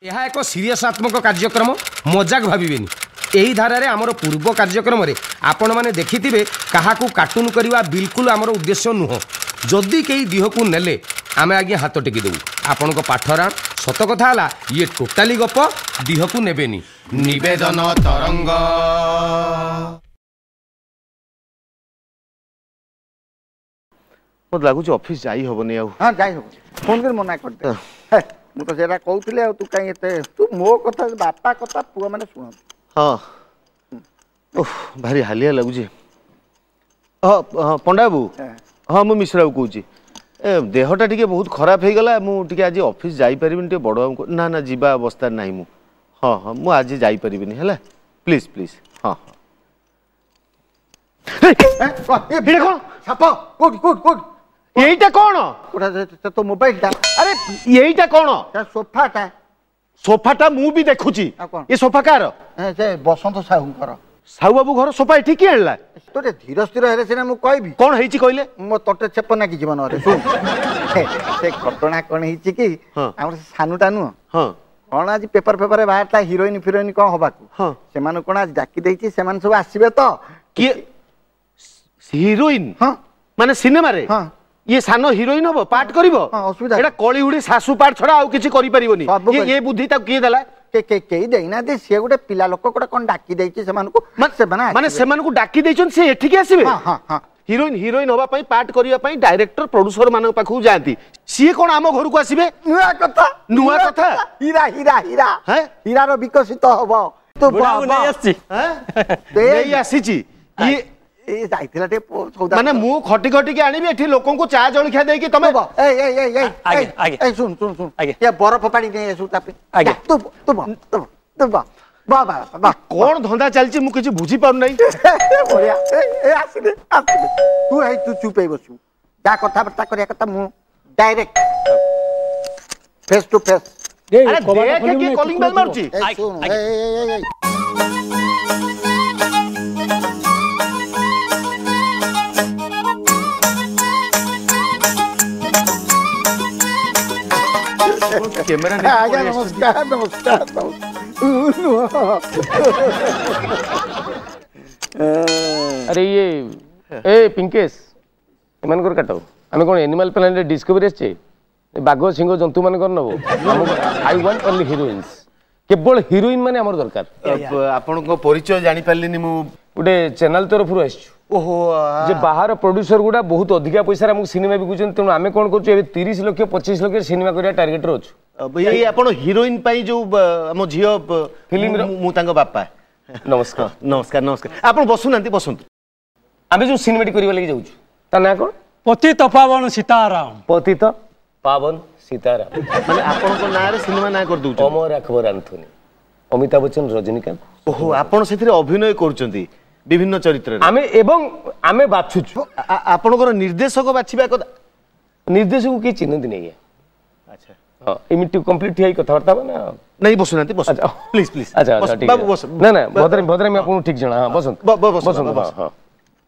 ଏହା ଏକ ସିରିୟସାତ୍ମକ କାର୍ଯ୍ୟକ୍ରମ, ମଜାକ ଭାବିବେନି। ଏହି ଧାରାରେ ଆମର ପୂର୍ବ କାର୍ଯ୍ୟକ୍ରମରେ ଆପଣମାନେ ଦେଖିଥିବେ କାହାକୁ କାର୍ଟୁନ କରିବା ବିଲକୁଲ ଆମର ଉଦ୍ଦେଶ୍ୟ ନୁହଁ। ଯଦି କେହି ଦିହକୁ ନେଲେ ଆମେ ଆଜ୍ଞା ହାତ ଟେକି ଦେବୁ। ଆପଣଙ୍କ ପାଠରା ସତ କଥା ହେଲା ଇଏ ଟୋଟାଲି ଗପ, ଦିହକୁ ନେବେନି। ନିବେଦନ ତରଙ୍ଗ। ମୋତେ ଲାଗୁଛି ଅଫିସ ଯାଇ ହବନି ଆଉ। ହଁ ଯାଇ ହବ, ଫୋନ କରି ମନା କରିଦେ। ମୁଁ ତ ସେଇଟା କହୁଥିଲି, ଆଉ ତୁ କାହିଁ ଏତେ, ତୁ ମୋ କଥା ବାପା କଥା ପୁଅ ମାନେ ଶୁଣନ୍ତି। ହଁ, ଓଃ ଭାରି ହାଲିଆ ଲାଗୁଛି। ହଁ ହଁ ପଣ୍ଡା ବାବୁ, ହଁ ମୁଁ ମିଶ୍ର ବାବୁ କହୁଛି। ଏ ଦେହଟା ଟିକେ ବହୁତ ଖରାପ ହେଇଗଲା, ମୁଁ ଟିକେ ଆଜି ଅଫିସ ଯାଇପାରିବିନି। ଟିକେ ବଡ଼ ବାବୁଙ୍କୁ, ନା ନା ଯିବା ଅବସ୍ଥାରେ ନାହିଁ ମୁଁ। ହଁ ହଁ ମୁଁ ଆଜି ଯାଇପାରିବିନି, ହେଲା ପ୍ଲିଜ୍ ପ୍ଲିଜ୍। ହଁ ହଁ। ଏଇଟା କ'ଣ ସାପ? କୋଉଠି କୋଉଠି କୋଉଠି? ଏଇଟା କ'ଣ? ତୋ ମୋବାଇଲଟା। ଆରେ ଏଇଟା କ'ଣ? ସୋଫାଟା। ସୋଫାଟା ମୁଁ ବି ଦେଖୁଛି। ଏ ସୋଫା କାହାର? ସେ ବସନ୍ତ ସାହୁଙ୍କର। ସାହୁ ବାବୁ ଘର ସୋଫା ଏଠି କିଏ ଆଣିଲା? ତୋ ଟିକେ ଧୀର ସ୍ଥିର ହେଲେ ସିନା ମୁଁ କହିବି। କ'ଣ ହେଇଛି କହିଲେ? ମୋ ତଟେ ଛେପ ନାଗିଯିବ ନହେଲେ। ଶୁଣ, ସେ ଘଟଣା କ'ଣ ହେଇଛି କି, ଆମର ସେ ସାନୁଟା ନୁହଁ, ହଁ କ'ଣ ଆଜି ପେପର ଫେପରରେ ବାହାରିଥିଲା ହିରୋଇନ ଫିରୋଇନ କ'ଣ ହବାକୁ, ସେମାନଙ୍କୁ କ'ଣ ଆଜି ଡାକି ଦେଇଛି, ସେମାନେ ସବୁ ଆସିବେ ତ। କିଏ ହିରୋଇନ? ହଁ ମାନେ ସିନେମାରେ? ହଁ ଇଏ ସାନ ହିରୋଇନ ହବ, ପାର୍ଟ କରିବ? ଅସୁବିଧା ଏଇଟା କଳିହୁଡ଼ି ଶାଶୁ ପାର୍ଟ ଛଡା ଆଉ କିଛି କରିପାରିବନି। ଏ ବୁଦ୍ଧି ତାକୁ କିଏ ଦେଲା? କେହି ଦେଇନାହାନ୍ତି, ସିଏ ଗୋଟେ ପିଲା ଲୋକ ଗୋଟେ କ'ଣ ଡାକି ଦେଇଛି ସେମାନଙ୍କୁ। ମାନେ ସେମାନଙ୍କୁ ଡାକି ଦେଇଛନ୍ତି, ସେ ଏଠିକି ଆସିବେ? ହିରୋଇନ ହିରୋଇନ ହବା ପାଇଁ, ପାର୍ଟ କରିବା ପାଇଁ ଡାଇରେକ୍ଟର ପ୍ରଡ୍ୟୁସର ମାନଙ୍କ ପାଖକୁ ଯାଆନ୍ତି, ସିଏ କ'ଣ ଆମ ଘରକୁ ଆସିବେ? ନୂଆ କଥା, ନୂଆ କଥା। ହୀରା ହୀରା ହୀରା ହୀରାର ବିକଶିତ ହବ। ନେଇ ଆସିଛି ଇଏ ଯାଇଥିଲା ଟିକେ, ମାନେ ମୁଁ ଖଟି ଖଟିକି ଆଣିବି ଏଠି ଲୋକଙ୍କୁ ଚା ଜଳଖିଆ ଦେଇକି ତମେ। ଶୁଣ ଶୁଣ ଶୁଣ, ବରଫ ପାଣି ନେଇ ଆସୁ ତା ପାଇଁ। ତୁ ତୁ ତୁ ତୁ କ'ଣ ଧନ୍ଦା ଚାଲିଛି ମୁଁ କିଛି ବୁଝିପାରୁନାହିଁ। ବଢିଆ, ଆସିଲେ ଆସିଲେ। ତୁ ହେଇ ତୁ ଚୁପ୍ ହେଇ ବସିବୁ, ଯାହା କଥାବାର୍ତ୍ତା କରିବା କଥା ମୁଁ ଡାଇରେକ୍ଟ ଫେସ୍ ଟୁ ଫେସ୍। ଆରେ ଦେଖେ କିଏ କଲିଂ ବେଲ୍ ମାରୁଛି। ଶୁଣ, କ୍ୟାମେରା। ଆଜ୍ଞା ନମସ୍କାର। ନମସ୍କାର। ଆରେ ଇଏ ଏ ପିଙ୍କେଶ, ଏମାନଙ୍କର କାଟ। ଆମେ କ'ଣ ଏନିମାଲ ପ୍ଲାନେଟ୍ ଡିସ୍କଭରି ଆସିଛେ? ବାଘ ସିଂହ ଜନ୍ତୁ ମାନଙ୍କର ନେବ? I want only ହିରୋଇନ୍ସ, କେବଳ ହିରୋଇନ ମାନେ ଆମର ଦରକାର। ଆପଣଙ୍କ ପରିଚୟ ଜାଣିପାରିଲିନି ମୁଁ। ଗୋଟେ ଚ୍ୟାନେଲ ତରଫରୁ ଆସିଛୁ। ଓହୋ। ଯେ ବାହାର ପ୍ରଡ୍ୟୁସର ଗୁଡ଼ା ବହୁତ ଅଧିକା ପଇସାରେ ଆମକୁ ସିନେମା ବିକୁଛନ୍ତି, ତେଣୁ ଆମେ କ'ଣ କରୁଛୁ ଏବେ 30 ଲକ୍ଷ 25 ଲକ୍ଷ ସିନେମା କରିବା ଟାର୍ଗେଟରେ ଅଛୁ। ଏଇ ଆପଣ ହିରୋଇନ ପାଇଁ ଯୋଉ ଆମ ଝିଅ ଫିଲ୍ମର, ମୁଁ ତାଙ୍କ ବାପା। ନମସ୍କାର। ନମସ୍କାର ନମସ୍କାର, ଆପଣ ବସୁନାହାନ୍ତି, ବସନ୍ତୁ। ଆମେ ଯୋଉ ସିନେମାଟି କରିବା ଲାଗି ଯାଉଛୁ ତା ନାଁ କ'ଣ? ପତିତ ପାବନ ସୀତାରାମ। ପତିତ ପାବନ ସୀତାରାମ ମାନେ ଆପଣଙ୍କ ନାଁରେ ସିନେମା ନାଁ କରିଦଉଛୁ? ଅମର ଆକବର ଆନ୍ଥୋନି, ଅମିତାଭ ବଚ୍ଚନ, ରଜନୀକାନ୍ତ। ଓହୋ, ଆପଣ ସେଥିରେ ଅଭିନୟ କରୁଛନ୍ତି ବିଭିନ୍ନ ଚରିତ୍ରରେ? ଆମେ ଏବଂ ଆମେ ବାଛୁଛୁ। ଆପଣଙ୍କର ନିର୍ଦ୍ଦେଶକ ବାଛିବା କଥା। ନିର୍ଦ୍ଦେଶକୁ କିଏ ଚିହ୍ନନ୍ତିନି ଆଜ୍ଞା। ଆଚ୍ଛା। ହଁ, ଏମିତି କମ୍ପ୍ଲିଟ୍ ହେଇ କଥାବାର୍ତ୍ତା ହବା ନା? ନାଇଁ, ବସୁନାହାନ୍ତି, ବସନ୍ତୁ ପ୍ଲିଜ ପ୍ଲିଜ। ଆଚ୍ଛା ଆଚ୍ଛା ବାବୁ ବସ। ନା ନା, ଭଦ୍ରାମି ଆପଣଙ୍କୁ ଠିକ ଜଣା। ହଁ ବସନ୍ତୁ ବସନ୍ତୁ। ହଁ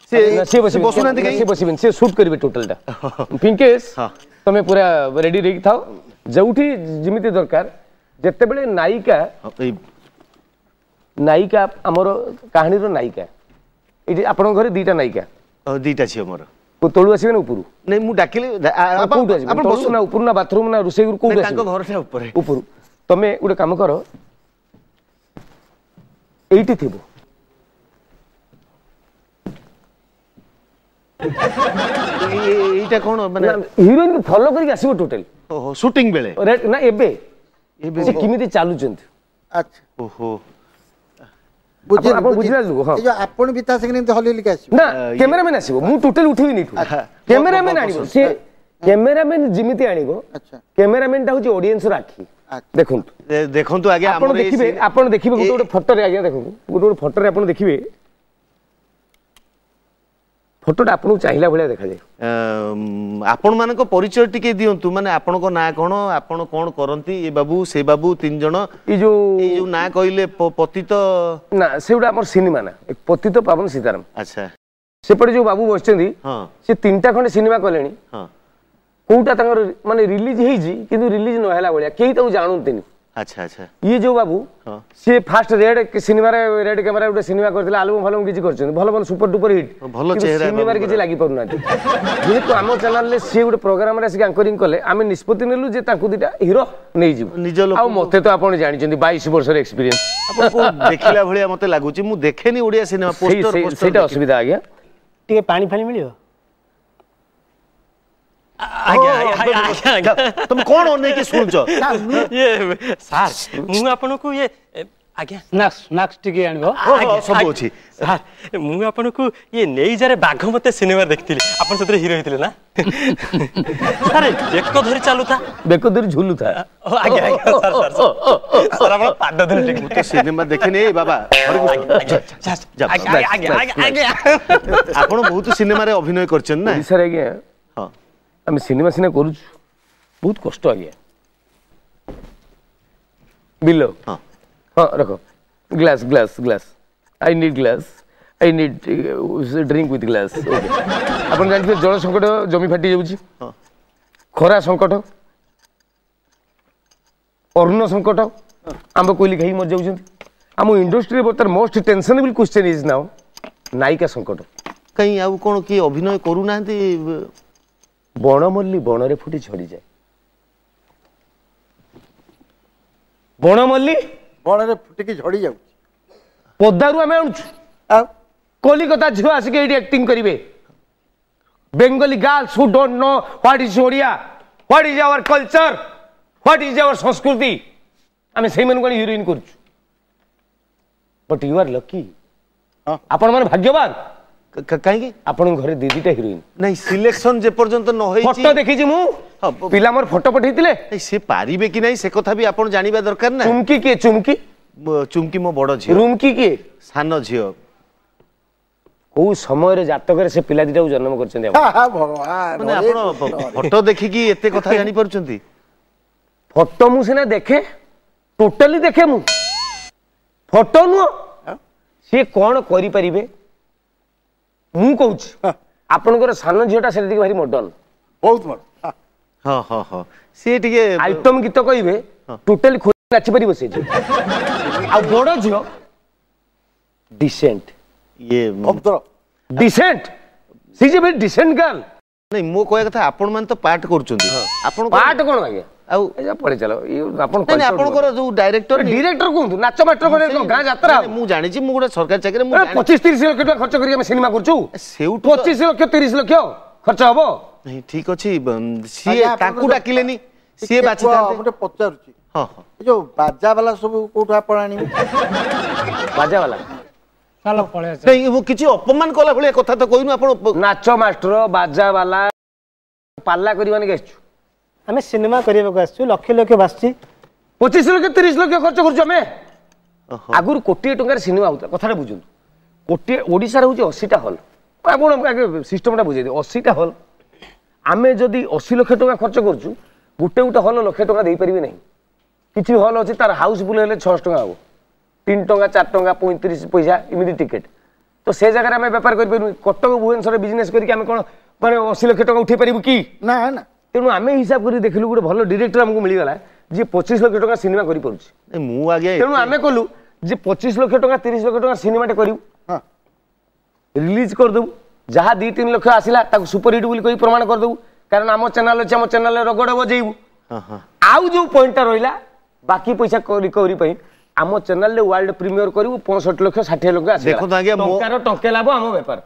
ସେ ସିଏ ବସୁନାହାନ୍ତି କାହିଁ? ସିଏ ବସିବେନି, ସିଏ ସୁଟ୍ କରିବେ ଟୋଟାଲଟା। ପିଙ୍କେଶ, ତମେ ପୁରା ରେଡି ହେଇକି ଥାଅ, ଯୋଉଠି ଯେମିତି ଦରକାର। ଯେତେବେଳେ ନାୟିକା, ନାୟିକା ଆମର କାହାଣୀର ନାୟିକା, ଏଇଠି ଆପଣଙ୍କ ଘରେ ଦିଟା ନାୟିକା? ଦିଟା ଝିଅ ମୋର। ତଳୁ ଆସିବେ ନା ଉପରୁ? ନାଇଁ ମୁଁ ଡାକିଲି। କୋଉଠୁ ଆସିବେ? ତଳୁ ନା ଉପରୁ ନା ବାଥରୁମ ନା ରୋଷେଇ ଘରୁ, କୋଉଠୁ ଆସିବେ? ଘରଟା ଉପରେ। ଉପରୁ। ତମେ ଗୋଟେ କାମ କର, ଏଇଠି ଥିବ। ଏଇଟା କ'ଣ ମାନେ? ହିରୋଇନ ଫଲୋ କରିକି ଆସିବ ଟୋଟାଲ। ଓହୋ, ସୁଟିଂ ବେଳେ? ନା ଏବେ, ସେ କେମିତି ଚାଲୁଛନ୍ତି। ଆଚ୍ଛା। ଓହୋ, ଆପଣ ବୁଝିଲା? ହଁ, ଆପଣ ବି ତା ସାଙ୍ଗରେ ଏମିତି ହଲି ହଲିକି ଆସିବ ନା? କ୍ୟାମେରାମ୍ୟାନ ଆସିବ, ମୁଁ ଟୋଟାଲ ଉଠିବିନି ଏଠୁ। କ୍ୟାମେରାମ୍ୟାନ ଆଣିବ, ସେ କ୍ୟାମେରାମ୍ୟାନ ଯେମିତି ଆଣିବ। କ୍ୟାମେରାମ୍ୟାନଟା ହଉଛି ଅଡିଏନ୍ସର ଆଖି। ଦେଖନ୍ତୁ ଦେଖନ୍ତୁ ଆଜ୍ଞା, ଆପଣ ଦେଖିବେ, ଆପଣ ଦେଖିବେ ଗୋଟେ ଗୋଟେ ଫଟୋରେ ଆଜ୍ଞା, ଦେଖନ୍ତୁ ଗୋଟେ ଗୋଟେ ଫଟୋରେ ଆପଣ ଦେଖିବେ, ଫଟୋଟା ଆପଣଙ୍କୁ ଚାହିଁଲା ଭଳିଆ ଦେଖାଯାଏ। ଆପଣମାନଙ୍କ ପରିଚୟ ଟିକେ ଦିଅନ୍ତୁ, ମାନେ ଆପଣଙ୍କ ନାଁ କ'ଣ, ଆପଣ କ'ଣ କରନ୍ତି? ଏ ବାବୁ, ସେ ବାବୁ, ତିନି ଜଣ। ଏଇ ଯୋଉ ଏଇ ଯୋଉ ନାଁ କହିଲେ ପତିତ ନା, ସେଗୁଡ଼ା ଆମର ସିନେମା ନା, ପତିତ ପାବନ ସୀତାରାମ। ଆଚ୍ଛା। ସେପଟେ ଯୋଉ ବାବୁ ବସିଛନ୍ତି, ସେ ତିନିଟା ଖଣ୍ଡେ ସିନେମା କଲେଣି। କୋଉଟା ତାଙ୍କର ମାନେ ରିଲିଜ ହେଇଛି, କିନ୍ତୁ ରିଲିଜ ନ ହେଲା ଭଳିଆ, କେହି ତାକୁ ଜାଣନ୍ତିନି। ଆଚ୍ଛା ଆଚ୍ଛା। ଇଏ ଯୋଉ ବାବୁ, ସିଏ ଫାଷ୍ଟ ରେଡ୍ ସିନେମାରେ, ରେଡ୍ କ୍ୟାମେରା ଗୋଟେ ସିନେମା କରିଥିଲେ, ଆଲବମ୍ ଫାଲବମ୍ କିଛି କରିଛନ୍ତି, ଭଲ ଭଲ ସୁପର ଡୁପର ହିଟ୍। ଭଲ ଚେହେରା। ସିନେମାରେ କିଛି ଲାଗି ପାରୁନାହାନ୍ତି। ଯେହେତୁ ଆମ ଚ୍ୟାନେଲରେ ସିଏ ଗୋଟେ ପ୍ରୋଗ୍ରାମରେ ଆସିକି ଆଙ୍କରିଂ କଲେ, ଆମେ ନିଷ୍ପତ୍ତି ନେଲୁ ଯେ ତାଙ୍କୁ ଦିଟା ହିରୋ ନେଇଯିବୁ। ନିଜ ଆଉ ମତେ ତ ଆପଣ ଜାଣିଛନ୍ତି, 22 ବର୍ଷର ଏକ୍ସପିରିଏନ୍ସ। ଦେଖିଲା ଭଳିଆ ମତେ ଲାଗୁଛି। ମୁଁ ଦେଖେନି ଓଡ଼ିଆ ସିନେମା, ପୋଷ୍ଟର। ସେଇଟା ଅସୁବିଧା ଆଜ୍ଞା। ଟିକେ ପାଣି ଫାଣି ମିଳିବ? ଆଜ୍ଞା ଆଜ୍ଞା। ତମେ କଣ ଅନେଇକି ଶୁଣୁଛ? ଇଏ ସାର୍, ମୁଁ ଆପଣଙ୍କୁ ଇଏ ଆଜ୍ଞା ସ୍ନାକ୍ସ, ସ୍ନାକ୍ସ ଟିକେ ଆଣିବ। ସବୁ ଅଛି। ସାର୍, ମୁଁ ଆପଣଙ୍କୁ ଇଏ ନେଇଯାରେ ବାଘ ମତେ ସିନେମା ଦେଖିଥିଲି, ଆପଣ ସେଥିରେ ହିରୋ ହେଇଥିଲେ ନା ସାର୍? ବେକ ଧରି ଚାଲୁଥା, ବେକ ଧରି ଝୁଲୁଥା। ଆଜ୍ଞା ଆଜ୍ଞା। ସାର୍ ସାର୍ ସାର୍, ଆପଣ ପାଦ ଧରି ଟିକେ। ମୁଁ ତ ସିନେମା ଦେଖିନି। ଏଇ ବାବା, ଆଜ୍ଞା। ଆପଣ ବହୁତ ସିନେମାରେ ଅଭିନୟ କରିଛନ୍ତି ନା? ଓଡ଼ିଶାରେ ଆଜ୍ଞା ହଁ, ଆମେ ସିନେମା ସିନା କରୁଛୁ, ବହୁତ କଷ୍ଟ ଆଜ୍ଞା। ବିଲ ହଁ ହଁ, ରଖ glass, glass, glass. I need glass, I need drink with glass. Okay. ଆପଣ ଜାଣିଥିବେ ଜଳ ସଙ୍କଟ, ଜମି ଫାଟି ଯାଉଛି, ଖରା ସଙ୍କଟ, ଅନ୍ନ ସଙ୍କଟ, ଆମ୍ବ କୋଇଲି ଖାଇକି ମରିଯାଉଛନ୍ତି। ଆମ ଇଣ୍ଡଷ୍ଟ୍ରିରେ ବର୍ତ୍ତମାନ ମୋଷ୍ଟ ଟେନସନେବଲ୍ କ୍ୱେଶ୍ଚନ୍ is ନାଉ ନାୟିକା ସଙ୍କଟ। କାହିଁ, ଆଉ କ'ଣ କିଏ ଅଭିନୟ କରୁନାହାନ୍ତି? ବଣମଲ୍ଲି ବଣରେ ଫୁଟି ଝଡ଼ିଯାଏ। ବଣମଲ୍ଲି ବଣରେ ଫୁଟିକି ଝଡ଼ି ଯାଉଛି। ପଦାରୁ ଆମେ ଆଣୁଛୁ। ଆଉ କଲିକତା ଝିଅ ଆସିକି ଏଇଠି ଆକ୍ଟିଂ କରିବେ। Bengali girls who don't know what is Odia, what is our culture, what is our ସଂସ୍କୃତି, ଆମେ ସେଇମାନଙ୍କୁ ଆଣି ହିରୋଇନ୍ କରୁଛୁ। ବଟ୍ you R lucky, ଆପଣମାନେ ଭାଗ୍ୟବାନ। କାହିଁକି? ଆପଣଙ୍କ ଘରେ ଦି ଦିଟା ହିରୋଇନ୍। ନାଇଁ, ସିଲେକ୍ସନ ଯେ ପର୍ଯ୍ୟନ୍ତ ନ ହେଇଛି। ଫଟୋ ଦେଖିଛି ମୁଁ, ପିଲା ମୋର ଫଟୋ ପଠେଇଥିଲେ। ସେ ପାରିବେ କି ନାହିଁ ସେ କଥା ବି ଆପଣ ଜାଣିବା ଦରକାର ନା। ଚୁମକି କିଏ? ଚୁମକି? ଚୁମକି ମୋ ବଡ ଝିଅ। ରୁମକି କିଏ? ସାନ ଝିଅ। କୋଉ ସମୟରେ ଜାତକରେ ସେ ପିଲା ଦିଟାକୁ ଜନ୍ମ କରିଛନ୍ତି? ମାନେ ଆପଣ ଫଟୋ ଦେଖିକି ଏତେ କଥା ଜାଣିପାରୁଛନ୍ତି? ଫଟୋ ମୁଁ ସିନା ଦେଖେ, ଟୋଟାଲି ଦେଖେ ମୁଁ। ଫଟୋ ନୁହଁ, ସିଏ କଣ କରିପାରିବେ ମୁଁ କହୁଛି। ଆପଣଙ୍କର ସାନ ଝିଅଟା ସେଟା ଟିକେ ଭାରି ମଡର୍ନ। ବହୁତ ମଡର୍ନ। ହଁ ହଁ ହଁ, ସିଏ ଟିକେ ଆଇଟମ ଗୀତ କହିବେ ଟୋଟାଲି ଖୋଲି ନାଚିପାରିବ ସେ ଝିଅ। ଆଉ ବଡ ଝିଅ ଡିସେଣ୍ଟ, ଇଏ ଭଦ୍ର, ଡିସେଣ୍ଟ। ସେ ଯେ ଭେରି ଡିସେଣ୍ଟ ଗାର୍ଲ। ନାଇଁ, ମୋ କହିବା କଥା ଆପଣ ମାନେ ତ ପାର୍ଟ କରୁଛନ୍ତି। ଆପଣ ପାର୍ଟ କଣ ଆଜ୍ଞା? ଆଉ ପଳେଇ ଚାଲ। ଆପଣ ଆପଣଙ୍କର ଯୋଉ ଡାଇରେକ୍ଟର, ଡିରେକ୍ଟର କୁହନ୍ତୁ, ନାଚ ମାଷ୍ଟର, ଗାଁ ଯାତ୍ରା। ମୁଁ ଜାଣିଛି, ମୁଁ ଗୋଟେ ସରକାରୀ ଚାକିରି। 25 30 ଲକ୍ଷ ଟଙ୍କା ଖର୍ଚ୍ଚ କରିକି ଆମେ ସିନେମା କରୁଛୁ। ସେଇଠୁ 25 ଲକ୍ଷ 30 ଲକ୍ଷ ଖର୍ଚ୍ଚ ହବ। ନାଇଁ, ଠିକ ଅଛି, ସିଏ ତାଙ୍କୁ ଡାକିଲେନି, ସିଏ ବାଛିଥାନ୍ତେ। ଗୋଟେ ପଚାରୁଛି। ହଁ ହଁ। ଏ ଯୋଉ ବାଜା ବାଲା ସବୁ କୋଉଠୁ ଆପଣ ଆଣିବେ? ବାଜା ବାଲା ଚାଲ ପଳେଇ। ନାଇଁ, ମୁଁ କିଛି ଅପମାନ କଲା ଭଳିଆ କଥା ତ କହିନୁ। ଆପଣ ନାଚ ମାଷ୍ଟର, ବାଜା ବାଲା, ପାଲା କରିବା ନେଇକି ଆସିଛୁ? ଆମେ ସିନେମା କରିବାକୁ ଆସିଛୁ, ଲକ୍ଷ ଲକ୍ଷ ବାସୁଛି। 25 ଲକ୍ଷ 30 ଲକ୍ଷ ଖର୍ଚ୍ଚ କରୁଛୁ ଆମେ। ଆଗରୁ କୋଟିଏ ଟଙ୍କାରେ ସିନେମା ହଉଥିଲା। କଥାଟା ବୁଝନ୍ତୁ, କୋଟିଏ ଓଡ଼ିଶାରେ ହେଉଛି 80ଟା ହଲ୍। ଆପଣ ଆଗେ ସିଷ୍ଟମଟା ବୁଝେଇ ଦିଅ। 80ଟା ହଲ୍, ଆମେ ଯଦି 80 ଲକ୍ଷ ଟଙ୍କା ଖର୍ଚ୍ଚ କରୁଛୁ, ଗୋଟେ ଗୋଟେ ହଲ୍ ଲକ୍ଷେ ଟଙ୍କା ଦେଇପାରିବେ ନାହିଁ। କିଛି ହଲ୍ ଅଛି ତାର ହାଉସଫୁଲ୍ ହେଲେ 600 ଟଙ୍କା ହବ, 3 ଟଙ୍କା, 4 ଟଙ୍କା 35 ପଇସା ଏମିତି ଟିକେଟ୍। ତ ସେ ଜାଗାରେ ଆମେ ବେପାର କରିପାରିବୁ? କଟକ ଭୁବନେଶ୍ୱରରେ ବିଜନେସ୍ କରିକି ଆମେ କ'ଣ ମାନେ 80 ଲକ୍ଷ ଟଙ୍କା ଉଠେଇ ପାରିବୁ କି? ନା ନା। ତେଣୁ ଆମେ ହିସାବ କରି ଦେଖିଲୁ, ଗୋଟେ ଭଲ ଡିରେକ୍ଟର ଆମକୁ ମିଳିଗଲା ଯିଏ 25 ଲକ୍ଷ ଟଙ୍କା ସିନେମା କରିପାରୁଛି। ମୁଁ ଆଜ୍ଞା, ତେଣୁ ଆମେ କଲୁ ଯେ 25 ଲକ୍ଷ ଟଙ୍କା 30 ଲକ୍ଷ ଟଙ୍କା ସିନେମାଟେ କରିବୁ, ରିଲିଜ୍ କରିଦେବୁ, ଯାହା 2 3 ଲକ୍ଷ ଆସିଲା ତାକୁ ସୁପରହିଟ୍ ବୋଲି କହି ପ୍ରମାଣ କରିଦେବୁ। କାରଣ ଆମ ଚ୍ୟାନେଲ ଅଛି, ଆମ ଚ୍ୟାନେଲରେ ରଗଡ଼ ବଜେଇବୁ। ଆଉ ଯୋଉ ପଏଣ୍ଟଟା ରହିଲା ବାକି ପଇସା ରିକଭରି ପାଇଁ, ଆମ ଚ୍ୟାନେଲରେ ୱାର୍ଲଡ ପ୍ରିମିୟର କରିବୁ, 65 ଲକ୍ଷ 60 ଲକ୍ଷ ଆସିବ। ଦେଖନ୍ତୁ ଆଜ୍ଞା, ଟଙ୍କାର ଟଙ୍କେ ଲାଭ ଆମ ବେପାର।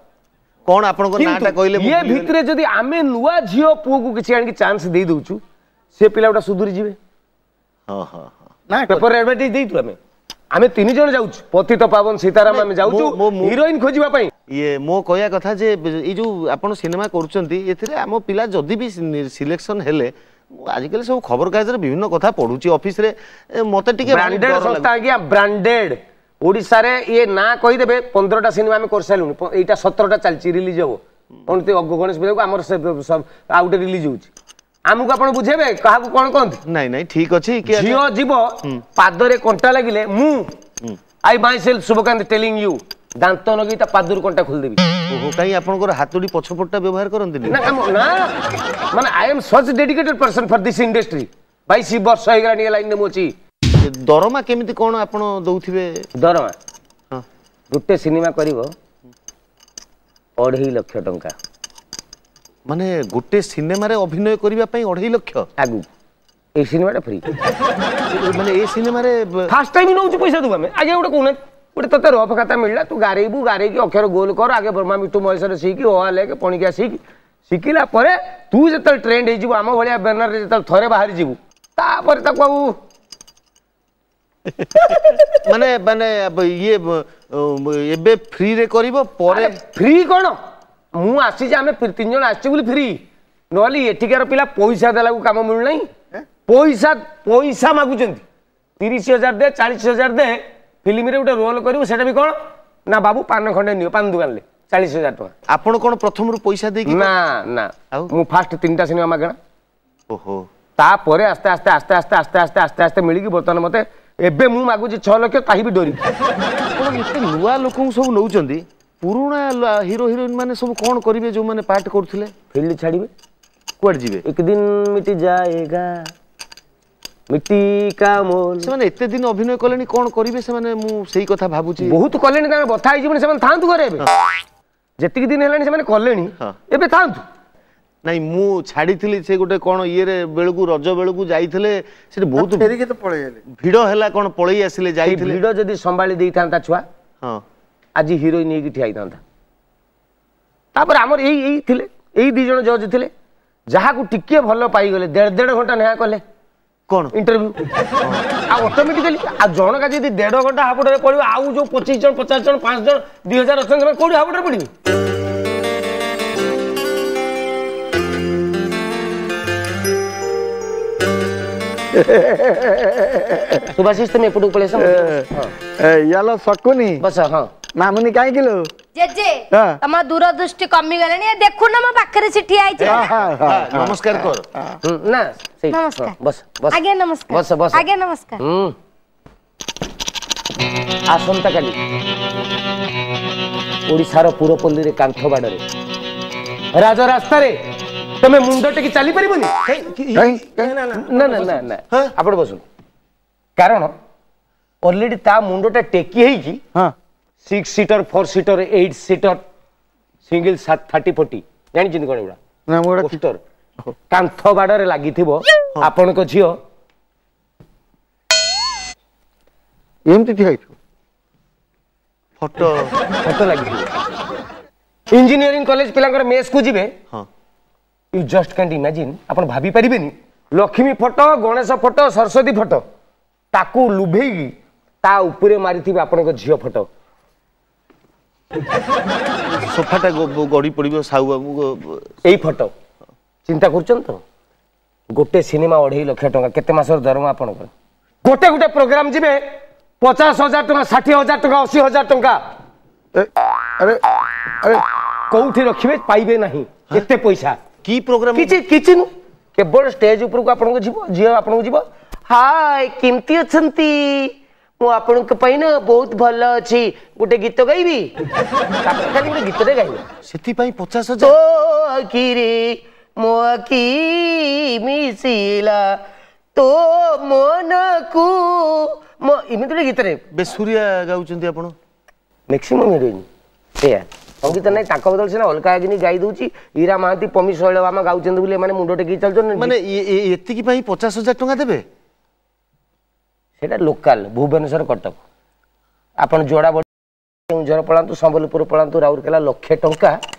କଣ ଆପଣଙ୍କ ନାଁଟା କହିଲେ? ଇଏ ଭିତରେ ଯଦି ଆମେ ନୂଆ ଝିଅ ପୁଅକୁ କିଛି ଆଣିକି ଚାନ୍ସ ଦେଇ ଦଉଛୁ, ସେ ପିଲା ଗୁଡ଼ା ସୁଧୁରି ଯିବେ। ହଁ ହଁ। ପେପର ଆଡଭର୍ଟାଇଜ ଦେଇଛୁ ଆମେ। ଆମେ ତିନି ଜଣ ଯାଉଛୁ, ପତିତ ପାବନ ସୀତାରାମ, ଆମେ ଯାଉଛୁ ହିରୋଇନ ଖୋଜିବା ପାଇଁ। ଇଏ ମୋ କହିବା କଥା ଯେ ଏଇ ଯୋଉ ଆପଣ ସିନେମା କରୁଛନ୍ତି, ଏଥିରେ ଆମ ପିଲା ଯଦି ବି ସିଲେକ୍ସନ ହେଲେ, ମୁଁ ଆଜିକାଲି ସବୁ ଖବରକାଗଜରେ ବିଭିନ୍ନ କଥା ପଢୁଛି, ଅଫିସରେ ମତେ ଟିକେ ବ୍ରାଣ୍ଡେଡ ସଂସ୍ଥା ଆଜ୍ଞା, ବ୍ରାଣ୍ଡେଡ। ଓଡ଼ିଶାରେ ଇଏ ନାଁ କହିଦେବେ। 15ଟା ସିନେମା ଆମେ କରିସାରିଲୁଣି, ଏଇଟା 17ଟା ଚାଲିଛି, ରିଲିଜ ହବ ଗଣେଶ ପୂଜାକୁ ଆମର। ଆଉ ଗୋଟେ ରିଲିଜ ହଉଛି। ଆମକୁ ଆପଣ ବୁଝେଇବେ କାହାକୁ କଣ କହନ୍ତି? ନାଇଁ ନାଇଁ, ଠିକ ଅଛି। ଝିଅ ଯିବ, ପାଦରେ କଣ୍ଟା ଲାଗିଲେ ମୁଁ, I myself Subhakanta telling you, ଦାନ୍ତ ଲଗେଇ ତା ପାଦରୁ କଣ୍ଟା ଖୋଲିଦେବି। ଓହୋ, କାହିଁ ଆପଣଙ୍କର ହାତୁଡ଼ି ପଛପଟଟା ବ୍ୟବହାର କରନ୍ତିନି? ନା ନା, ମାନେ I am such dedicated person for this industry. 22 ବର୍ଷ ହେଇଗଲାଣି ଏ ଲାଇନରେ ମୁଁ ଅଛି। ଦରମା କେମିତି କ'ଣ ଆପଣ ଦଉଥିବେ? ଦରମା ଗୋଟେ ସିନେମା କରିବ 2.5 ଲକ୍ଷ ଟଙ୍କା। ମାନେ ଗୋଟେ ସିନେମାରେ ଅଭିନୟ କରିବା ପାଇଁ 2.5 ଲକ୍ଷ? ଆଗକୁ ଏଇ ସିନେମାଟା ଫ୍ରି। ମାନେ ଏ ସିନେମାରେ ଫାର୍ଷ୍ଟ ଟାଇମ୍ ନେଉଛୁ ପଇସା ଦେବୁ ଆମେ। ଆଜ୍ଞା ଗୋଟେ କହୁନାହାନ୍ତି, ଗୋଟେ ତତେ ରଫ ଖାତା ମିଳିଲା, ତୁ ଗାରେଇବୁ, ଗାରେଇକି ଅକ୍ଷର ଗୋଲ କର, ଆଗେ ବ୍ରହ୍ମା ବିଷ୍ଣୁ ମହେଶ୍ୱର ଶିଖି, ଅ ଆ ଲେଖ, ପଣିକିଆ ଶିଖ। ଶିଖିଲା ପରେ ତୁ ଯେତେବେଳେ ଟ୍ରେଣ୍ଡ ହେଇଯିବୁ, ଆମ ଭଳିଆ ବ୍ୟାନରରେ ଯେତେବେଳେ ଥରେ ବାହାରି ଯିବୁ, ତାପରେ ତାକୁ ଆଉ ମାନେ ମାନେ ଇଏ ଏବେ ଫ୍ରିରେ କରିବ ପରେ ଫ୍ରି କ'ଣ? ମୁଁ ଆସିଛି, ଆମେ 3 ଜଣ ଆସିଛୁ ବୋଲି ଫ୍ରି, ନହେଲେ ଏଠିକାର ପିଲା ପଇସା ଦେଲାକୁ କାମ ମିଳୁନାହିଁ। ପଇସା ପଇସା ମାଗୁଛନ୍ତି, 30,000 ଦେ, 40,000 ଦେ, ଫିଲ୍ମରେ ଗୋଟେ ରୋଲ କରିବୁ। ସେଟା ବି କ'ଣ ନା ବାବୁ ପାନ ଖଣ୍ଡେ ନିଅ ପାନ ଦୋକାନରେ, 40,000 ଟଙ୍କା। ଆପଣ କ'ଣ ପ୍ରଥମରୁ ପଇସା ଦେଇକି? ନା ନା, ମୁଁ ଫାଷ୍ଟ 3ଟା ସିନେମା ମାଗଣା। ଓହୋ। ତାପରେ ଆସ୍ତେ ଆସ୍ତେ ଆସ୍ତେ ଆସ୍ତେ ଆସ୍ତେ ଆସ୍ତେ ଆସ୍ତେ ଆସ୍ତେ ମିଳିକି ବର୍ତ୍ତମାନ ମତେ ଏବେ ମୁଁ ମାଗୁଛି 6 ଲକ୍ଷ, ତାହି ବି ଡରି। ଆପଣ ଏତେ ନୂଆ ଲୋକଙ୍କୁ ସବୁ ନେଉଛନ୍ତି, ପୁରୁଣା ହିରୋ ହିରୋଇନ ମାନେ ସବୁ କ'ଣ କରିବେ ଯୋଉମାନେ ପାର୍ଟ କରୁଥିଲେ? ଫିଲ୍ଡ ଛାଡ଼ିବେ। କୁଆଡ଼େ ଯିବେ? ଏକ ଦିନ ମିଟି ଯାଏଗା ମିଟି କା ମୋଲ। ସେମାନେ ଏତେ ଦିନ ଅଭିନୟ କଲେଣି, କ'ଣ କରିବେ ସେମାନେ? ମୁଁ ସେଇ କଥା ଭାବୁଛି। ବହୁତ କଲେଣି, ତାଙ୍କର ବଥା ହେଇଯିବନି, ସେମାନେ ଥାଆନ୍ତୁ ଘରେ। ଏବେ ଯେତିକି ଦିନ ହେଲାଣି ସେମାନେ କଲେଣି, ଏବେ ଥାଆନ୍ତୁ। ନାଇଁ, ମୁଁ ଛାଡ଼ିଥିଲି ସେ ଗୋଟେ କ'ଣ ଇଏରେ ବେଳକୁ, ରଜ ବେଳକୁ ଯାଇଥିଲେ, ସେଠି ବହୁତ ଭିଡ଼ ହେଲା, କ'ଣ ପଳେଇ ଆସିଲେ। ଯାଇଥିଲେ ଭିଡ଼ ଯଦି ସମ୍ଭାଳି ଦେଇଥାନ୍ତା ଛୁଆ, ହଁ, ଆଜି ହିରୋଇନ ହେଇକି ଠିଆ ହେଇଥାନ୍ତା। ତାପରେ ଆମର ଏଇ ଏଇ ଥିଲେ, ଏଇ 2 ଜଣ ଜଜ୍ ଥିଲେ, ଯାହାକୁ ଟିକିଏ ଭଲ ପାଇଗଲେ 1.5 ଘଣ୍ଟା ନେହା କଲେ କ'ଣ ଇଣ୍ଟରଭ୍ୟୁ, ଆଉ ଅଟୋମେଟିକାଲି। ଆଉ ଜଣକା ଯଦି 1.5 ଘଣ୍ଟା ହାବୁଡ଼ରେ ପଡ଼ିବ, ଆଉ ଯୋଉ 25 ଜଣ, 50 ଜଣ, 5 ଜଣ, 2000 ଅଛନ୍ତି, ସେମାନେ କୋଉଠି ହାବୁଡ଼ରେ ପଡ଼ିବେ? ସୁଭାଶିଷ, ତମେ ଏପଟକୁ ପଳେଇ ଆସ। ୟାଲୋ ଶକୁନି, ବସ। ହଁ ମାମୁନି, କାହିଁକି ଲୋ? ଜେଜେ, ତମ ଦୂରଦୃଷ୍ଟି କମିଗଲାଣି, ଦେଖୁନ ମୋ ପାଖରେ ସେ ଠିଆ ହେଇଛି। ନମସ୍କାର କର। ନା, ସେଇ ବସ ବସ। ଆଜ୍ଞା ନମସ୍କାର। ବସ ବସ। ଆଜ୍ଞା ନମସ୍କାର। ଆସନ୍ତାକାଲି ଓଡ଼ିଶାର ପୁରପଲ୍ଲୀରେ କାନ୍ଥ ବାଡ଼ରେ ରାଜରାସ୍ତାରେ ତମେ ମୁଣ୍ଡ ଟେକି ଚାଲିପାରିବନି। ନା ନା ନା ନା, ଆପଣ ବସନ୍ତୁ, କାରଣ ଅଲରେଡି ତା ମୁଣ୍ଡଟା ଟେକି ହେଇକି 6 ସିଟର, 4 ସିଟର, 8 ସିଟର, ସିଙ୍ଗଲ 30 40, ଜାଣିଛନ୍ତି କ'ଣ ଏଗୁଡ଼ା? ପୋଷ୍ଟର କାନ୍ଥ ବାଡ଼ରେ ଲାଗିଥିବ। ଆପଣଙ୍କ ଝିଅ ଏମିତି ଠିଆ ହେଇଥିବ, ଫଟୋ ଫଟୋ ଲାଗିଥିବ। ଇଞ୍ଜିନିୟରିଂ କଲେଜ ପିଲାଙ୍କର ମେସ୍କୁ ଯିବେ, you just cantt imagine, ଆପଣ ଭାବି ପାରିବେନି, Lakshmi photo, Ganesh photo, Saraswati photo, ତାକୁ ଲୁଭେଇକି ତା ଉପରେ ମାରିଥିବେ ଆପଣଙ୍କ ଝିଅ ଫଟୋ। ସୋଫାଟା ଗଡ଼ି ପଡ଼ିବ ସାହୁ ବାବୁ। ଏଇ ଫଟୋ ଚିନ୍ତା କରୁଛନ୍ତି ତ? ଗୋଟେ ସିନେମା 2.5 ଲକ୍ଷ ଟଙ୍କା, କେତେ ମାସର ଦରମା ଆପଣଙ୍କର? ଗୋଟେ ଗୋଟେ ପ୍ରୋଗ୍ରାମ ଯିବେ 50,000 ଟଙ୍କା, 60,000 ଟଙ୍କା, 80,000 ଟଙ୍କା। ଆରେ ଆରେ, କୋଉଠି ରଖିବେ ପାଇବେ ନାହିଁ ଏତେ ପଇସା। କି ପ୍ରୋଗ୍ରାମ? କିଛି କିଛି ନୁହଁ, କେବଳ ଷ୍ଟେଜ ଉପରକୁ ଆପଣଙ୍କୁ ଯିବ, ଝିଅ ଆପଣଙ୍କୁ ଯିବ, ହାଏ କେମିତି ଅଛନ୍ତି, ମୁଁ ଆପଣଙ୍କ ପାଇଁ ନା ବହୁତ ଭଲ ଅଛି, ଗୋଟେ ଗୀତ ଗାଇବି। ତାପରେ ଖାଲି ଗୋଟେ ଗୀତଟେ ଗାଇବେ, ସେଥିପାଇଁ 50,000? ତୋ ଆଖିରେ ମୋ ଆଖି ମିଶିଲା, ତୋ ମନକୁ ମୋ, ଏମିତି ଗୋଟେ ଗୀତରେ। ବେସୁରିଆ ଗାଉଛନ୍ତି ଆପଣ। ମ୍ୟାକ୍ସିମମ୍ ହିରୋଇନ ସେଇଆ, ସଙ୍ଗୀତ ନାହିଁ ତାଙ୍କ ବଦଳରେ ସିନା ଅଲଗା ଆଗିନି ଗାଇ ଦଉଛି। ଇରା ମହାନ୍ତି, ପମି ଶୈଳବାମା ଗାଉଛନ୍ତି ବୋଲି ଏମାନେ ମୁଣ୍ଡ ଟେକିକି ଚାଲୁଛନ୍ତି। ମାନେ ଏତିକି ପାଇଁ 50,000 ଟଙ୍କା ଦେବେ? ସେଇଟା ଲୋକାଲ ଭୁବନେଶ୍ୱର, କଟକ। ଆପଣ ଯୋଡ଼ା କେଉଁଝର ପଳାନ୍ତୁ, ସମ୍ବଲପୁର ପଳାନ୍ତୁ, ରାଉରକେଲା, ଲକ୍ଷେ ଟଙ୍କା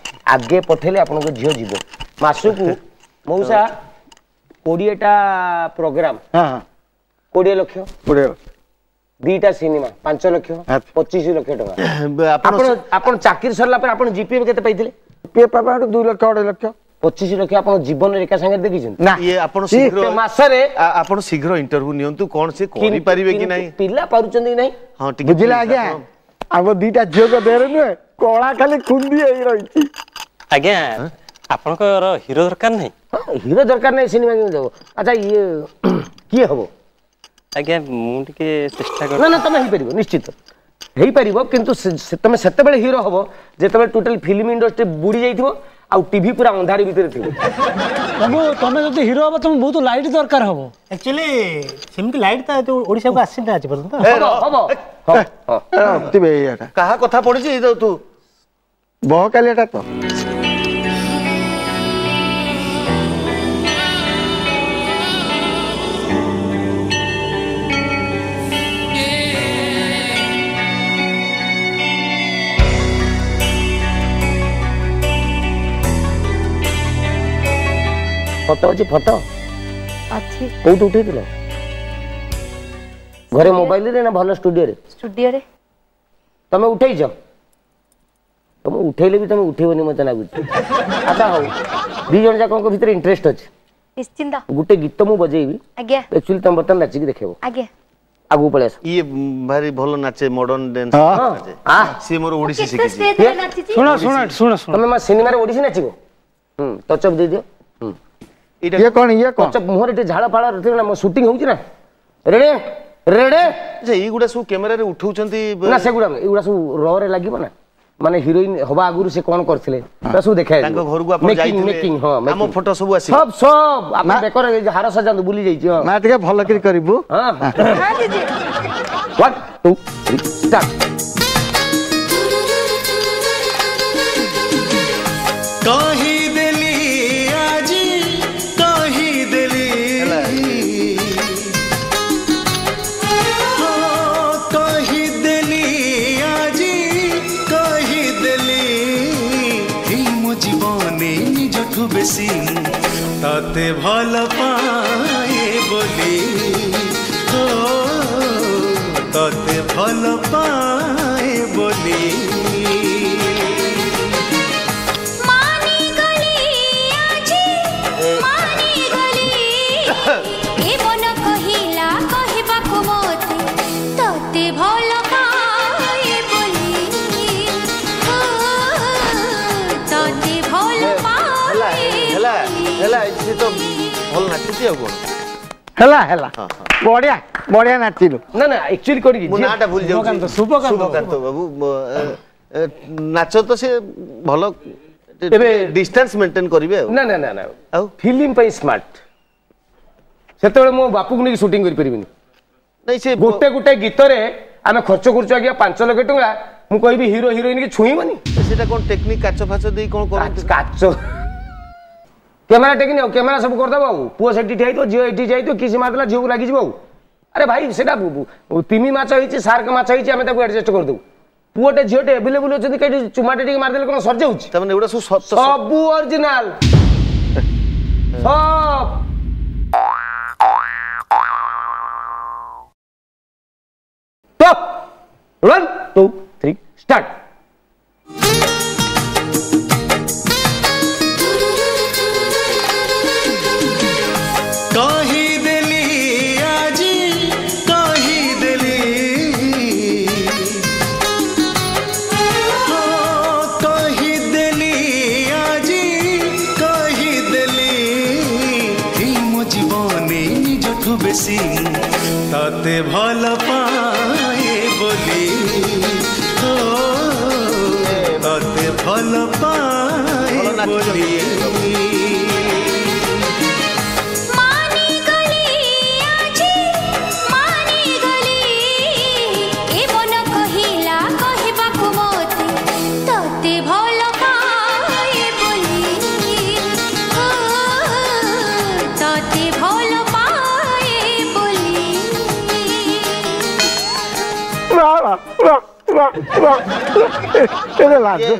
ଆଗେ ପଠେଇଲେ ଆପଣଙ୍କ ଝିଅ ଯିବ। ମାସକୁ ମଉସା 20ଟା ପ୍ରୋଗ୍ରାମ 20 ଲକ୍ଷ, 2ଟା ସିନେମା 5 ଲକ୍ଷ, 25 ଲକ୍ଷ ଟଙ୍କା। ଆପଣ ଆପଣ ଚାକିରି ସରିଲା ପରେ ଆପଣ ଜିପିଏଫ କେତେ ପାଇଥିଲେ? ଜିପିଏଫ ପାଇବା 2 ଲକ୍ଷ, 2.5 ଲକ୍ଷ। 25 ଲକ୍ଷ ଆପଣ ଜୀବନରେ ଏକା ସାଙ୍ଗରେ ଦେଖିଛନ୍ତି? ନା। ଇଏ ଆପଣ ଶୀଘ୍ର ମାସରେ ଆପଣ ଶୀଘ୍ର ଇଣ୍ଟରଭ୍ୟୁ ନିଅନ୍ତୁ, କ'ଣ ସେ କରିପାରିବେ କି ନାହିଁ, ପିଲା ପାରୁଛନ୍ତି କି ନାହିଁ। ହଁ ଟିକେ ବୁଝିଲା ଆଜ୍ଞା, ଆମ 2ଟା ଝିଅଙ୍କ ଦେହରେ ନୁହେଁ କଳା ଖାଲି ଖୁନ୍ଦି ହେଇ ରହିଛି। ଆଜ୍ଞା, ଆପଣଙ୍କର ହିରୋ ଦରକାର ନାହିଁ? ହିରୋ ଦରକାର ନାହିଁ, ସିନେମା କେମିତି ହବ? ଆଚ୍ଛା, ଇଏ କିଏ ହବ? ଆଜ୍ଞା ମୁଁ ଟିକେ ଚେଷ୍ଟା ନା ନା, ତମେ ହେଇପାରିବ, ନିଶ୍ଚିତ ହେଇପାରିବ, କିନ୍ତୁ ତମେ ସେତେବେଳେ ହିରୋ ହବ ଯେତେବେଳେ ଟୋଟାଲ ଫିଲ୍ମ ଇଣ୍ଡଷ୍ଟ୍ରି ବୁଡ଼ି ଯାଇଥିବ, ଆଉ ଟିଭି ପୁରା ଅନ୍ଧାରି ଭିତରେ ଥିବ। ବାବୁ, ତମେ ଯଦି ହିରୋ ହବ, ତମକୁ ବହୁତ ଲାଇଟ୍ ଦରକାର ହବ। ଆକ୍ଚୁଆଲି ସେମିତି ଲାଇଟ୍ ତ ଓଡ଼ିଶାକୁ ଆସିନି ଆଜି ପର୍ଯ୍ୟନ୍ତ। ହବ। କାହା କଥା ପଡିଛି ତୁ? ବହକାଲିଆଟା ତ। ଫଟୋ ଅଛି? ଫଟୋ ଅଛି। କୋଉଠି ଉଠେଇଥିଲ? ଘରେ ମୋବାଇଲରେ ନା ଭଲ ଷ୍ଟୁଡିଓରେ? ଷ୍ଟୁଡିଓରେ। ତମେ ଉଠେଇଛ? ତମେ ଉଠେଇଲେ ବି ତମେ ଉଠେଇବନି ମତେ ଲାଗୁଛି। ଆଚ୍ଛା ହଉ, ଦି ଜଣ ଯାକଙ୍କ ଭିତରେ ଇଣ୍ଟରେଷ୍ଟ ଅଛି? ନିଶ୍ଚିନ୍ତ। ଗୋଟେ ଗୀତ ମୁଁ ବଜେଇବି। ଆଜ୍ଞା। ଆକ୍ଚୁଆଲି ତମେ ବର୍ତ୍ତମାନ ନାଚିକି ଦେଖେଇବ। ଆଜ୍ଞା। ଆଗକୁ ପଳେଇ ଆସ। ଇଏ ଭାରି ଭଲ ନାଚେ, ମଡର୍ନ ଡ୍ୟାନ୍ସ। ସିଏ ମୋର ଓଡିଶୀ ଶିଖିଛି। ଶୁଣ ଶୁଣ ଶୁଣ ଶୁଣ, ତମେ ମା ସିନେମାରେ ଓଡିଶୀ ନାଚିବ? ହୁଁ, ଟଚଅପ୍ ଦେଇଦିଅ। ହୁଁ। ଇଏ କଣ? ଇଏ କଣ? ଟଚଅପ୍ ମୁହଁରେ ଟିକେ ଝାଳ ଫାଳ ଥିବ ନା, ମୋ ସୁଟିଂ ହଉଛି ନା। Ready ready. ଆଚ୍ଛା, ଏଇଗୁଡ଼ା ସବୁ କ୍ୟାମେରାରେ ଉଠଉଛନ୍ତି? ନା, ସେଗୁଡ଼ା ଏଗୁଡ଼ା ସବୁ ରରେ ଲାଗିବ ନା, ମାନେ ହିରୋଇନ ହବା ଆଗରୁ ସେ କଣ କରିଥିଲେ ତା ସବୁ ଦେଖା। ତାଙ୍କ ଘରକୁ ଆପଣ ଯାଇଥିଲେ? ମେକିଂ, ହଁ। ଆମ ଫଟୋ ସବୁ ଆସିବ? ସବୁ ସବୁ। ଆପଣ ବେକରେ ହାର ସଜାନ୍ତୁ, ବୁଲି ଯାଇଛି। ହଁ ମା, ଟିକେ ଭଲ କରି କରିବୁ। ହଁ, 1 2 3 ଷ୍ଟାର୍ଟ। କହିଦେଲି ଆଜି, କହିଦେଲି, କହିଦେଲି ଆଜି, କହିଦେଲି ଏଇ ମୋ ଜୀବନେ ନିଜଠୁ ବେଶୀ ମୁଁ ତତେ ଭଲ ପାଏ ବୋଲି, ତତେ ଭଲ ପାଏ ବୋଲି। ହେଲା, ସେ ତ ଭଲ ନାଚୁଛି, ଆଉ କଣ? ହେଲା ହେଲା, ବଢିଆ ବଢିଆ ନାଚିଲୁ। ନା ନା, ଆକ୍ଚୁଆଲି କରିକି ମୁଁ ନାଁଟା ଭୁଲି ଯାଉଛି। ଶୁଭକାନ୍ତ ବାବୁ, ନାଚ ତ ସେ ଭଲ, ଏବେ ଡିଷ୍ଟାନ୍ସ ମେଣ୍ଟେନ କରିବେ ଆଉ। ନା ନା ନା ନା, ଆଉ ଫିଲ୍ମ ପାଇଁ ସ୍ମାର୍ଟ। ସେତେବେଳେ ମୋ ବାପୁକୁ ନେଇକି ସୁଟିଂ କରିପାରିବିନି। ନାଇଁ, ସେ ଗୋଟେ ଗୋଟେ ଗୀତରେ ଆମେ ଖର୍ଚ୍ଚ କରୁଛୁ ଆଜ୍ଞା 5 ଲକ୍ଷ ଟଙ୍କା। ମୁଁ କହିବି ହିରୋ ହିରୋଇନ କି ଛୁଇଁବନି। ସେଟା କଣ ଟେକ୍ନିକ? କାଚ ଫାଚ ଦେଇ କଣ କରନ୍ତି? କାଚ କ୍ୟାମେରା ଟେକିନି ଆଉ କ୍ୟାମେରା ସବୁ କରିଦେବ, ଆଉ ପୁଅ ସେଠି ଠିଆ ହେଇଥିବ, ଝିଅ ଏଠି ଠିଆ ହେଇଥିବ, କିସି ମାରିଦେଲା ଝିଅକୁ ଲାଗିଯିବ। ଆଉ ଆରେ ଭାଇ, ସେଟା ତିମି ମାଛ ହେଇଛି, ସାର୍କ ମାଛ ହେଇଛି, ଆମେ ତାକୁ ଆଡଜଷ୍ଟ କରିଦେବୁ। ପୁଅଟେ ଝିଅଟେ ଆଭେଲେବୁଲ ଅଛନ୍ତି, କେଠି ଚୁମାଟେ ଟିକେ ମାରିଦେଲେ କଣ ସରିଯାଉଛି? ତାମାନେ ଏଗୁଡ଼ା ସବୁ ସବୁ ଅରିଜିନାଲ ସବ। 1 2 3 ଷ୍ଟାର୍ଟ। କହିଦେଲି ଆଜି, କହିଦେଲି, କହିଦେଲି ଆଜି, କହିଦେଲି ଏଇ ମୋ ଜୀବନେ ନିଜଠୁ ବେଶୀ ତତେ ଭଲ ପାଏ ବୋଲି, ତତେ ଭଲ ପାଏ ବୋଲି।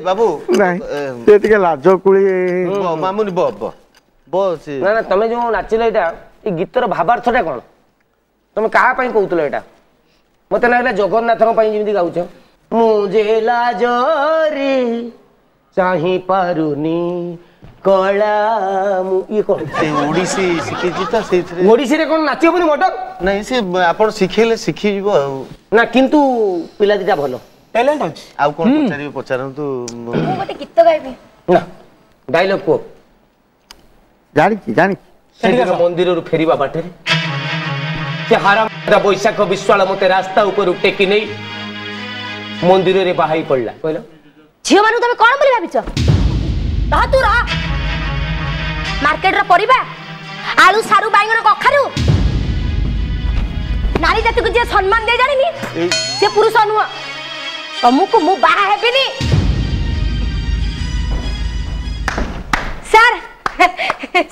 ବାବୁ ନାଇଁ, ସେ ଟିକେ ଲାଜ କୁଳି। ମାମୁନି ବ ବ ବ। ନା ନା, ତମେ ଯୋଉ ନାଚିଲ ଏଇଟା, ଏ ଗୀତର ଭାବାର୍ଥଟା କଣ? ତମେ କାହା ପାଇଁ କହୁଥିଲ ଏଇଟା? ମତେ ଲାଗିଲା ଜଗନ୍ନାଥଙ୍କ ପାଇଁ ଯେମିତି ଗାଉଛ, ମୁଁ ଯେ ଲାଜରେ ଚାହିଁ ପାରୁନି କଳା ମୁଁ, ଇଏ କଣ? ସେ ଓଡିଶୀ ଶିଖିଛି ତ ସେଇଥିରେ। ଓଡିଶୀରେ କଣ ନାଚି ହବନି ମଟନ? ନାଇଁ, ସେ ଆପଣ ଶିଖେଇଲେ ଶିଖିଯିବ ଆଉ। ନା, କିନ୍ତୁ ପିଲା ଦିଟା ଭଲ, ଟ୍ୟାଲେଣ୍ଟ ଅଛି। ଆଉ କଣ ପଚାରିବେ ପଚାରନ୍ତୁ। ମୁଁ ଗୋଟେ ଗୀତ ଗାଇବି। ନା, ଡାଇଲଗ କୁହ। ଜାଣିଛି ଜାଣିଛି। ସେଦିନ ମନ୍ଦିରରୁ ଫେରିବା ବାଟରେ ସେ ହାରାମ ବୈଶାଖ ବିଶ୍ୱାଳ ମତେ ରାସ୍ତା ଉପରୁ ଟେକି ନେଇ ମନ୍ଦିରରେ ବାହାଇ ପଡିଲା। କହିଲ ଝିଅ ମାନଙ୍କୁ ତମେ କଣ ବୋଲି ଭାବିଛ? ରହ ତୁ ରହ। ମାର୍କେଟର ପରିବା ଆଳୁ ସାରୁ ବାଇଗଣ କଖାରୁ, ନାରୀ ଜାତିକୁ ଯିଏ ସମ୍ମାନ ଦେଇ ଜାଣିନି ସେ ପୁରୁଷ ନୁହଁ। ତମକୁ ମୁଁ ବାହା ହେବିନି। ସାର୍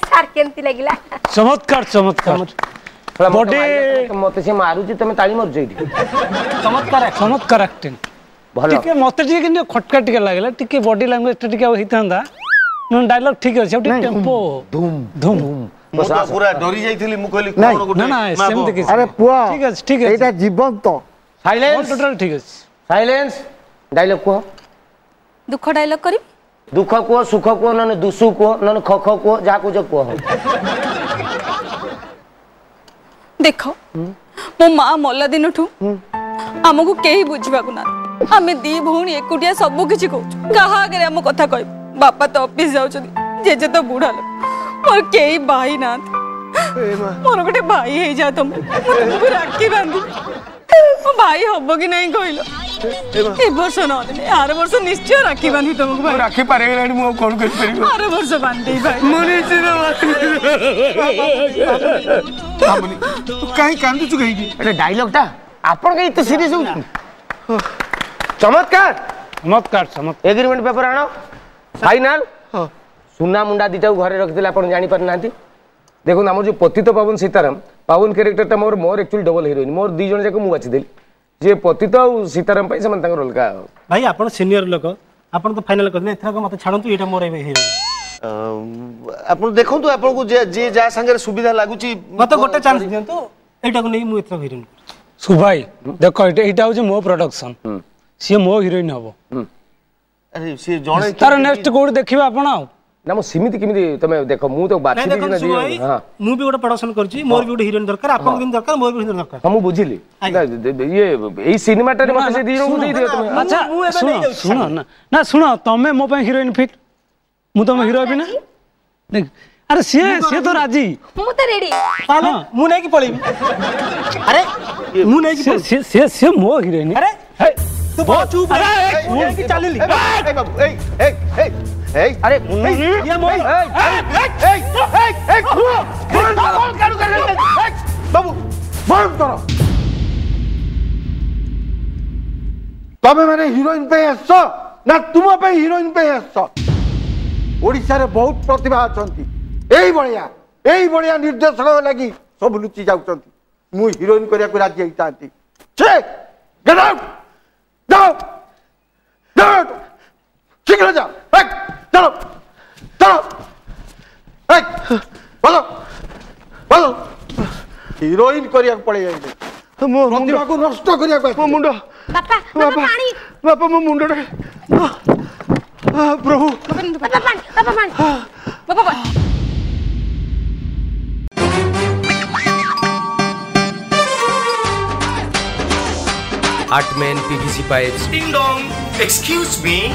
ସାର୍ କେମିତି ଲାଗିଲା? ଚମତ୍କାର ଚମତ୍କାର। ବଡି ମତେ ସେ ମାରୁଛି, ତମେ ତାଳି ମାରୁଛ ଏଇଠି। ଚମତ୍କାର ଚମତ୍କାର ଆକ୍ଟିଂ। ଭଲ ଟିକେ ମତେ ଟିକେ କିନ୍ତୁ ଖଟକା ଟିକେ ଲାଗିଲା, ଟିକେ ବଡି ଲାଙ୍ଗୁଏଜଟା ଟିକେ ଆଉ ହେଇଥାନ୍ତା। ଡାଇଲଗ ଠିକ ଅଛି, ଆଉ ଟିକେ ଟେମ୍ପୋ ଧୁମ୍ ଧୁମ୍। ମୁଁ ତ ପୁରା ଡରି ଯାଇଥିଲି, ମୁଁ କହିଲି କଣ ଗୋଟେ। ନା ନା ସେମିତି କିଛି। ଆରେ ପୁଅ ଠିକ ଅଛି ଠିକ ଅଛି, ଏଇଟା ଜୀବନ୍ତ। ସାଇଲେନ୍ସ, ଟୋଟାଲ ଠିକ ଅଛି। ସାଇଲେନ୍ସ। ଡାଇଲଗ କୁହ। ଦୁଃଖ ଡାଇଲଗ କରିବି? ଦୁଃଖ କୁହ, ସୁଖ କୁହ, ନହେଲେ ଦୁସୁ କୁହ, ନହେଲେ ଖ ଖ କୁହ, ଯାହା କହୁଛ କୁହ। ଦେଖ, ମୋ ମା ମଲା ଦିନଠୁ ଆମକୁ କେହି ବୁଝିବାକୁ ନାହାନ୍ତି। ଆମେ ଦି ଭଉଣୀ ଏକୁଟିଆ ସବୁ କିଛି କହୁଛୁ, କାହା ଆଗରେ ଆମ କଥା କହିବୁ? ବାପା ତ ଅଫିସ ଯାଉଛନ୍ତି, ଜେଜେ ତ ବୁଢା ଲୋକ, ମୋର କେହି ଭାଇ ନାହାନ୍ତି। ମୋର ଗୋଟେ ଭାଇ ହେଇଯା ତମେ, ମୁଁ ତୁମକୁ ରାକ୍ଷୀ ବାନ୍ଧିବି। ମୋ ଭାଇ ହବ କି ନାହିଁ କହିଲ? ଏ ବର୍ଷ ନହେଲେ ଆର ବର୍ଷ ନିଶ୍ଚୟ ରାକ୍ଷୀ ବାନ୍ଧିବି ତମକୁ। ଭାଇ ରାକ୍ଷୀ ପାରିଗଲାଣି, ମୁଁ ଆଉ କଣ କରିପାରିବି? ଆର ବର୍ଷ ବାନ୍ଧିବି ଭାଇ। ମୁଁ ନିଶ୍ଚିତ। ତୁ କାହିଁ କାନ୍ଦୁଛୁ କାହିଁକି? ଏଟା ଡାଇଲଗଟା ଆପଣ କାହିଁ ଏତେ ସିରିୟସ୍ ହଉଛନ୍ତି? ଚମତ୍କାର ଚମତ୍କାର ଚମତ୍କାର। ଏଗ୍ରିମେଣ୍ଟ ପେପର ଆଣ। ଫାଇନାଲ। ସୁନା ମୁଣ୍ଡା ଦିଟାକୁ ଘରେ ରଖିଥିଲେ, ଆପଣ ଜାଣିପାରିନାହାନ୍ତି। ଦେଖନ୍ତୁ, ଆମର ଯେଉଁ ପତିତ ପାବନ ସୀତାରାମ, ପାବନ କ୍ୟାରେକ୍ଟରଟା ମୋର ମୋର ଆକ୍ଚୁଆଲି ଡବଲ ହିରୋଇନ୍, ମୋର ଦୁଇ ଜଣ ଯାକ ମୁଁ ବାଛିଦେଲି। ଯିଏ ପତିତ ଆଉ ସୀତାରାମ ପାଇଁ ସେମାନେ ତାଙ୍କର ଅଲଗା। ଭାଇ ଆପଣ ସିନିୟର ଲୋକ, ଆପଣ ତ ଫାଇନାଲ କରିଦେଲେ, ଏଥରକ ମତେ ଛାଡ଼ନ୍ତୁ, ଏଇଟା ମୋର ଏବେ ହିରୋଇନ୍। ଆପଣ ଦେଖନ୍ତୁ, ଆପଣଙ୍କୁ ଯିଏ ଯାହା ସାଙ୍ଗରେ ସୁବିଧା ଲାଗୁଛି। ମତେ ଗୋଟେ ଚାନ୍ସ ଦିଅନ୍ତୁ, ଏଇଟାକୁ ନେଇ ମୁଁ ଏଥର ହିରୋଇନ୍ କରୁଛି। ସୁଭାଇ ଦେଖ, ଏଇଟା ହଉଛି ମୋ ପ୍ରଡକ୍ସନ, ସିଏ ମୋ ହିରୋଇନ୍ ହବ। ଆରେ ସିଏ ଜଣେ ତାର ନେକ୍ସଟ କୋଉଠି ଦେଖିବେ ଆପଣ ଆଉ? ନା ମୁଁ ସେମିତି କେମିତି, ତମେ ଦେଖ, ମୁଁ ତ ବାଛି। ମୁଁ ବି ଗୋଟେ ପ୍ରଡକ୍ସନ କରୁଛି, ମୋର ବି ଗୋଟେ ହିରୋଇନ୍ ଦରକାର, ଆପଣଙ୍କ ଯେମିତି ଦରକାର ମୋର ବି ହିରୋଇନ୍ ଦରକାର। ହଁ ମୁଁ ବୁଝିଲି, ଇଏ ଏଇ ସିନେମାଟାରେ ମତେ ସେ ଦି ଜଣଙ୍କୁ ଦେଇଦିଅ ତମେ। ଆଚ୍ଛା ଶୁଣ ଶୁଣ, ନା ନା ଶୁଣ, ତମେ ମୋ ପାଇଁ ହିରୋଇନ୍ ଫିଟ୍, ମୁଁ ତମ ହିରୋ ହେବି ନା? ଦେଖ, ଆରେ ସିଏ ସିଏ ତ ରାଜି, ମୁଁ ତ ରେଡି। ତାହେଲେ ମୁଁ ନେଇକି ପଳେଇବି। ଆରେ ମୁଁ ନେଇକି, ସିଏ ସିଏ ମୋ ହିରୋଇନ୍। ଆରେ ତୁ ବଡ଼ ଚୁପ୍, ମୁଁ ନେଇକି ଚାଲିଲି। ବାବୁ ଏଇ ଏଇ ଏଇ ଏଇ, ଆରେ ଇଏ ମୋ ବାବୁ ବନ୍ଦ କର। ତମେ ମାନେ ହିରୋଇନ ପାଇଁ ଆସିଛ ନା ତୁମ ପାଇଁ ହିରୋଇନ ପାଇଁ ଆସିଛ? ଓଡ଼ିଶାରେ ବହୁତ ପ୍ରତିଭା ଅଛନ୍ତି, ଏଇଭଳିଆ ଏଇଭଳିଆ ନିର୍ଦ୍ଦେଶକ ଲାଗି ସବୁ ଲୁଚି ଯାଉଛନ୍ତି। ମୁଁ ହିରୋଇନ କରିବାକୁ ରାଜି ହେଇଥାନ୍ତି। ଛେ, ଗେଟ୍ ଆଉଟ୍, ଯାଅ ଯାଅ, ଶୀଘ୍ର ଯାଅ, ଚାଲ ଚାଲ, ବଲ ବଲ। ହିରୋଇନ କରିବାକୁ ପଳେଇ ଆଇଲେ, ପ୍ରତିଭାକୁ ନଷ୍ଟ କରିବାକୁ। ମୋ ମୁଣ୍ଡ, ବାପା ବାପା ପାଣି, ବାପା ମୋ ମୁଣ୍ଡଟା, ପ୍ରଭୁ ବାପା ପାଣି, ବାପା ପାଣି, ବାପା ପାଣି। Artman PVC pipes. Ding dong. Excuse me.